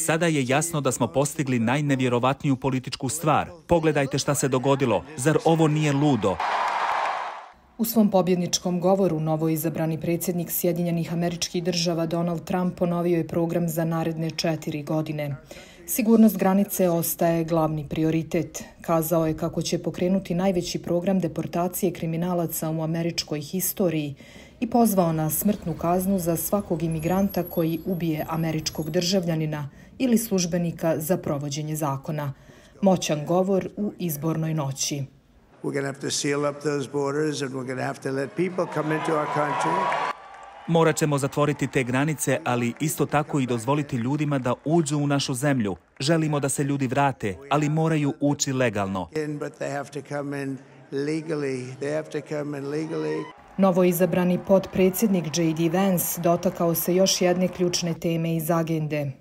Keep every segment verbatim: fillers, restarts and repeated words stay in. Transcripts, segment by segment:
Sada je jasno da smo postigli najnevjerovatniju političku stvar. Pogledajte šta se dogodilo. Zar ovo nije ludo? U svom pobjedničkom govoru novoizabrani predsjednik Sjedinjenih Američkih Država Donald Trump ponovio je program za naredne četiri godine. Sigurnost granice ostaje glavni prioritet. Kazao je kako će pokrenuti najveći program deportacije kriminalaca u američkoj historiji i pozvao na smrtnu kaznu za svakog imigranta koji ubije američkog državljanina ili službenika za provođenje zakona. Moćan govor u izbornoj noći. Morat ćemo zatvoriti te granice, ali isto tako i dozvoliti ljudima da uđu u našu zemlju. Želimo da se ljudi vrate, ali moraju ući legalno. Novoizabrani potpredsjednik J D Vance dotakao se još jedne ključne teme iz agende.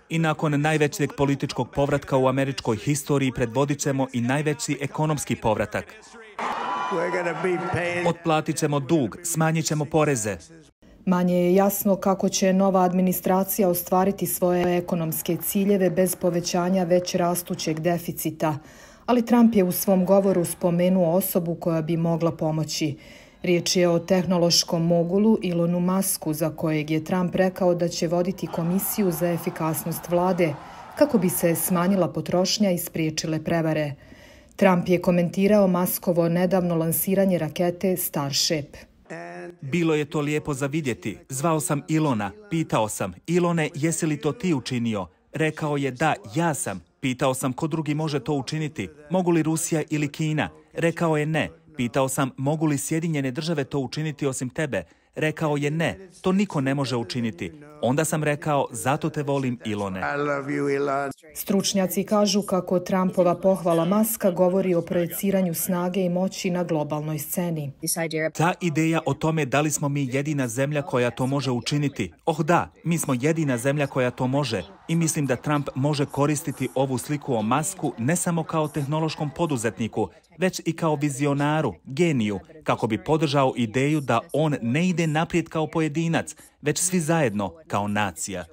I nakon najvećeg političkog povratka u američkoj historiji predvodit ćemo i najveći ekonomski povratak. Otplatit ćemo dug, smanjit ćemo poreze. Manje je jasno kako će nova administracija ostvariti svoje ekonomske ciljeve bez povećanja već rastućeg deficita, ali Trump je u svom govoru spomenuo osobu koja bi mogla pomoći. Riječ je o tehnološkom mogulu Elonu Musku, za kojeg je Trump rekao da će voditi komisiju za efikasnost vlade, kako bi se smanjila potrošnja i spriječile prevare. Trump je komentirao Muskovo nedavno lansiranje rakete Starship. Bilo je to lijepo za vidjeti. Zvao sam Elona, pitao sam, Elone, jesi li to ti učinio? Rekao je da, ja sam. Pitao sam ko drugi može to učiniti, mogu li Rusija ili Kina? Rekao je ne. Pitao sam mogu li Sjedinjene države to učiniti osim tebe? Rekao je ne, to niko ne može učiniti. Onda sam rekao, zato te volim, Elone. Stručnjaci kažu kako Trumpova pohvala Muska govori o projeciranju snage i moći na globalnoj sceni. Ta ideja o tome da li smo mi jedina zemlja koja to može učiniti. Oh da, mi smo jedina zemlja koja to može. I mislim da Trump može koristiti ovu sliku o Musku ne samo kao tehnološkom poduzetniku, već i kao vizionaru, geniju, kako bi podržao ideju da on ne ide naprijed kao pojedinac, već svi zajedno kao nacija.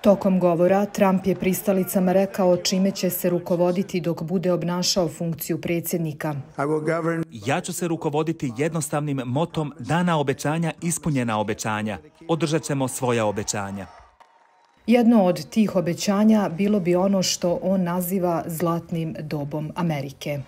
Tokom govora Trump je pristalicama rekao čime će se rukovoditi dok bude obnašao funkciju predsjednika. Ja ću se rukovoditi jednostavnim motom dana obećanja, ispunjena obećanja. Održat ćemo svoja obećanja. Jedno od tih obećanja bilo bi ono što on naziva zlatnim dobom Amerike.